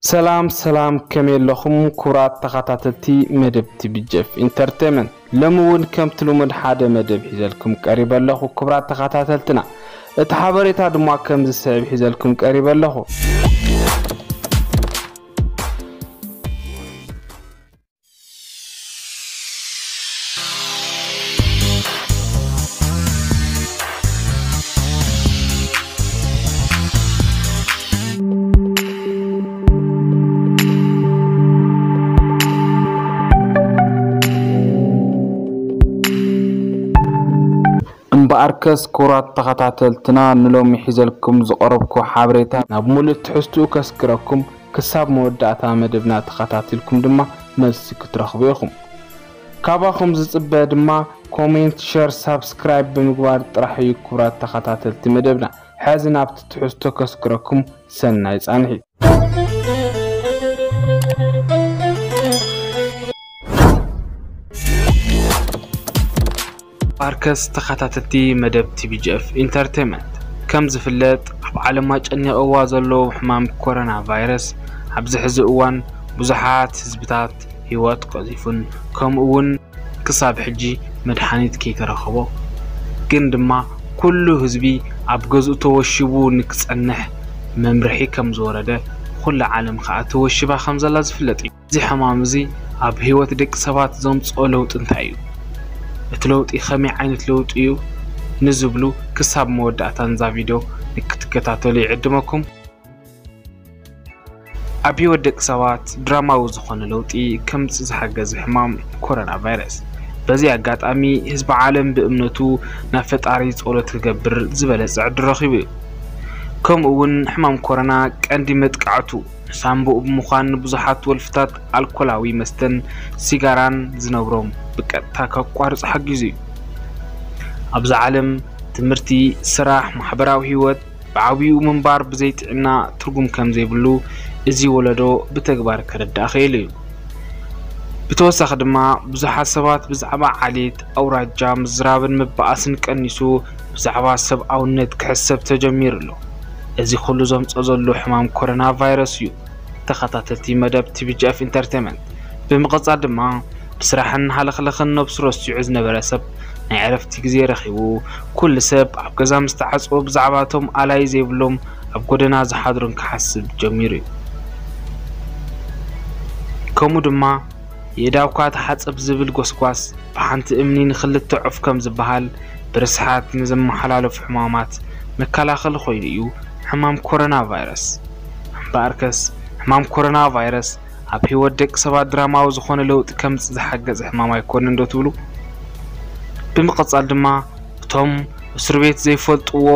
ሰላም ሰላም፣ ከመይ ኣለኹም ክቡራት ተኸታተልቲ መደብ ቲ ቢ ጂ ኤፍ ኢንተርቴይመንት? ሎሚ እውን ከምቲ ልሙድ ሓደ መደብ ሒዘልኩም ቀሪበ ኣለኹ። ክቡራት ተኸታተልትና፣ እቲ ሓበሬታ ድማ ከም ዝስዕብ ሒዘልኩም ቀሪበ ኣለኹ። እምበኣርከስ ክቡራት ተኸታተልትና፣ ንሎሚ ሒዘልኩም ዝቐረብኩ ሓበሬታ ናብ ሙሉእ ትሕዝትኡ ከስግረኩም። ክሳብ መወዳእታ መደብና ተኸታቲልኩም ድማ መልሲ ክትረኽቡ ኢኹም። ካባኹም ዝጽበ ድማ ኮሜንት፣ ሸር፣ ሳብስክራይብ ብምግባር ጥራሕ እዩ። ክቡራት ተኸታተልቲ መደብና፣ ሕዚ ናብቲ ትሕዝቶ ከስግረኩም። ሰናይ ጻንሒት። ባርከስ ተኸታተልቲ መደብ ቲ ቢ ጂ ኤፍ ኢንተርቴይመንት፣ ከም ዝፍለጥ ኣብ ዓለም ኣጨኒቕዋ ዘሎ ሕማም ኮሮና ቫይረስ ኣብዚ ሕዚ እዋን ብዙሓት ህዝብታት ህይወት ቀዚፉን ከምኡ እውን ክሳብ ሕጂ መድሓኒት ከይተረኸቦ፣ ግን ድማ ኩሉ ህዝቢ ኣብ ገዝኡ ተወሺቡ ንክጸንሕ መምርሒ ከም ዝወረደ፣ ኩላ ዓለም ከኣ ተወሺባ ከም ዘላ ዝፍለጥ እዩ። እዚ ሕማም እዚ ኣብ ህይወት ደቂ ሰባት ዘምጽኦ ለውጢ እንታይ እዩ? እቲ ለውጢ ከመይ ዓይነት ለውጢ እዩ? ንዝብሉ ክሳብ መወዳእታ ናይዛ ቪድዮ ንክትከታተሉ ይዕድመኩም። ኣብ ህይወት ደቂ ሰባት ድራማዊ ዝኾነ ለውጢ ከምጽእ ዝሓገዘ ሕማም ኮሮና ቫይረስ። በዚ ኣጋጣሚ ህዝቢ ዓለም ብእምነቱ ናብ ፈጣሪ ጸሎት ክገብር ዝበለጸ ዕድል ረኺቡ እዩ። ከምኡ እውን ሕማም ኮሮና ቀንዲ መጥቃዕቱ ንሳንቡእ ብምዃን ንብዙሓት ወልፍታት ኣልኮላዊ መስተን ሲጋራን ዝነብሮም ብቀጥታ ከቋርጹ ሓጊዙ እዩ። ኣብዚ ዓለም ትምህርቲ፣ ስራሕ፣ ማሕበራዊ ህይወት ብዓብይኡ ምንባር ብዘይ ጥዕና ትርጉም ከም ዘይብሉ እዚ ወለዶ ብተግባር ከረድእ ክኢሉ እዩ። ብተወሳኺ ድማ ብዙሓት ሰባት ብዛዕባ ዓሌት፣ ኣውራጃ ምዝራብን ምበኣስን ቀኒሱ ብዛዕባ ሰብኣውነት ክሕሰብ ተጀሚሩ ኣሎ። እዚ ኩሉ ዘምጾ ዘሎ ሕማም ኮሮና ቫይረስ እዩ። ተኸታተልቲ መደብ ቲ ቢ ጂ ኤፍ ኢንተርቴይመንት፣ ብምቕጻል ድማ ብስራሕን ሃለኽለኽን ነብሱ ረሲዑ ዝነበረ ሰብ ናይ ዕረፍቲ ግዜ ረኺቡ፣ ኩሉ ሰብ ኣብ ገዛ ምስ ተዓጽወ ብዛዕባ እቶም ኣላይ ዘይብሎም ኣብ ጎደና ዝሓድሩን ክሓስብ ጀሚሩ እዩ። ከምኡ ድማ የእዳውካ ተሓጸብ ዝብል ጎስጓስ ብሓንቲ እምኒ ንኽልተ ዑፍ ከም ዝበሃል፣ ብርስሓት ንዝመሓላለፉ ሕማማት መከላኸሊ ኮይኑ እዩ ሕማም ኮሮና ቫይረስ። እምበኣርከስ ሕማም ኮሮና ቫይረስ ኣብ ህይወት ደቂ ሰባት ድራማዊ ዝኾነ ለውጢ ከምጽእ ዝሓገዘ ሕማም ኣይኮነን ዶ ትብሉ? ብምቕጻል ድማ እቶም እስር ቤት ዘይፈልጥዎ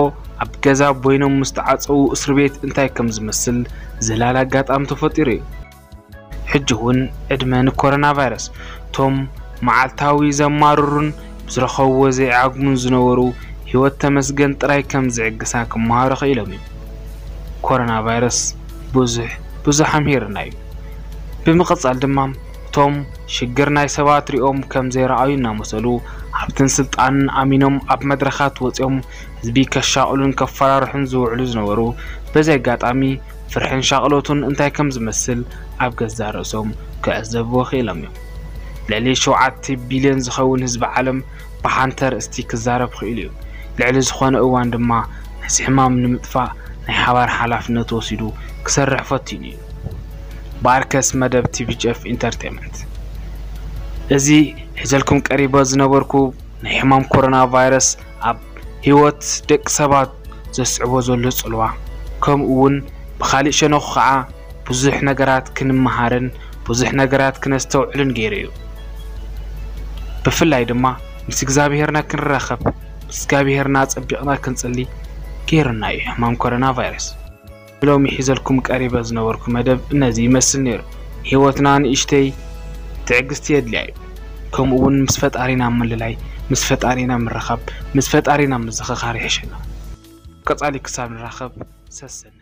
ኣብ ገዛ ቦይኖም ምስ ተዓጸዉ እስር ቤት እንታይ ከም ዝመስል ዘላሊ ኣጋጣሚ ተፈጢሩ እዩ። ሕጂ እውን ዕድመ ንኮሮና ቫይረስ። እቶም መዓልታዊ ዘማርሩን ብዝረኸብዎ ዘይዓግሙን ዝነበሩ ህይወት ተመስገን ጥራይ ከም ዝዕግሳ ክመሃሩ ክኢሎም እዮም። ኮሮና ቫይረስ ብዙሕ ብዙሕ ኣምሂርና እዩ። ብምቕጻል ድማ እቶም ሽግር ናይ ሰባት ሪኦም ከም ዘይረኣዩ እናመሰሉ ሃብትን ስልጣንን ኣሚኖም ኣብ መድረኻት ወጺኦም ህዝቢ ከሻቕሉን ከፈራርሑን ዝውዕሉ ዝነበሩ፣ በዚ ኣጋጣሚ ፍርሕን ሻቕሎቱን እንታይ ከም ዝመስል ኣብ ገዛእ ርእሶም ክዕዘብዎ ክኢሎም እዮም። ልዕሊ ሸውዓተ ቢልዮን ዝኸውን ህዝቢ ዓለም ብሓንቲ ኣርእስቲ ክዛረብ ክኢሉ እዩ። ልዕሊ ዝኾነ እዋን ድማ ነዚ ሕማም ንምጥፋእ ናይ ሓባር ሓላፍነት ወሲዱ ክሰርሕ ፈቲኑ እዩ። ባርከስ መደብ ቲ ቢ ጂ ኤፍ ኢንተርቴይመንት። እዚ ሒዘልኩም ቀሪበ ዝነበርኩ ናይ ሕማም ኮሮና ቫይረስ ኣብ ህይወት ደቂ ሰባት ዘስዕቦ ዘሎ ጽልዋ፣ ከምኡ እውን ብኻሊእ ሸነኹ ኸዓ ብዙሕ ነገራት ክንመሃርን ብዙሕ ነገራት ክነስተውዕልን ገይሩ እዩ። ብፍላይ ድማ ምስ እግዚኣብሄርና ክንራኸብ፣ ምስ እግዚኣብሄርና ጸቢቕና ክንጽሊ ገይሩና እዩ ሕማም ኮሮና ቫይረስ። ሎሚ ሒዘልኩም ቀሪበ ዝነበርኩ መደብ እነዚ ይመስል ነይሩ። ህይወትና ንእሽተይ ትዕግስቲ የድልያ እዩ። ከምኡ እውን ምስ ፈጣሪና ምልላይ፣ ምስ ፈጣሪና ምርኻብ፣ ምስ ፈጣሪና ምዝኽኻር ይሕሸና። ቀጻሊ ክሳብ ንራኸብ ሰሰነ።